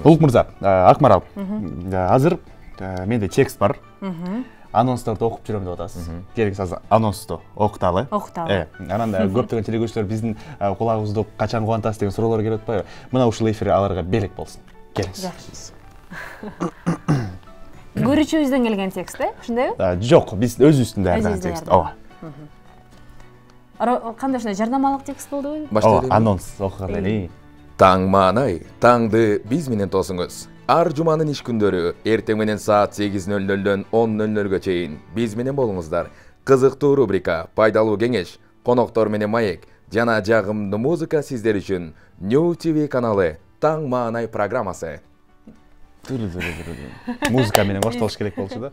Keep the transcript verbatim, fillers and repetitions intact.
Улук мырза, Акмарал, азыр менде текст бар. Анонстарды окуп жүрөм деп атасыз. Керексиз анонсту окуталы. Окуталы. Анан да көптөгөн телекөрүүчүлөр биздин кулагыбызды качан кубантасыз деген суроолор келип атпайбы? Мына ушул эфир аларга белек болсун. Келиңиз. Көрүүчүбүздөн келген текст, э? Ошондойбу? Жок, биз өзүбүздүн даярдаган текст. Ооба. Кандай ушундай жарнамалык текст болдубу? Ооба, анонс окуганда эле. Таң маанай, таңды биз менен тосуңуз. Ар жуманын иш күндөрү эртең менен саат сегиз нөл нөлдөн он нөл нөлгө чейин биз менен болуңуздар. Кызыктуу рубрика, пайдалуу кеңеш, коноктор менен маек жана жагымдуу музыка сиздер үчүн New ти ви каналы Таң маанай программасы. Музыка менен башталыш керек болчу да.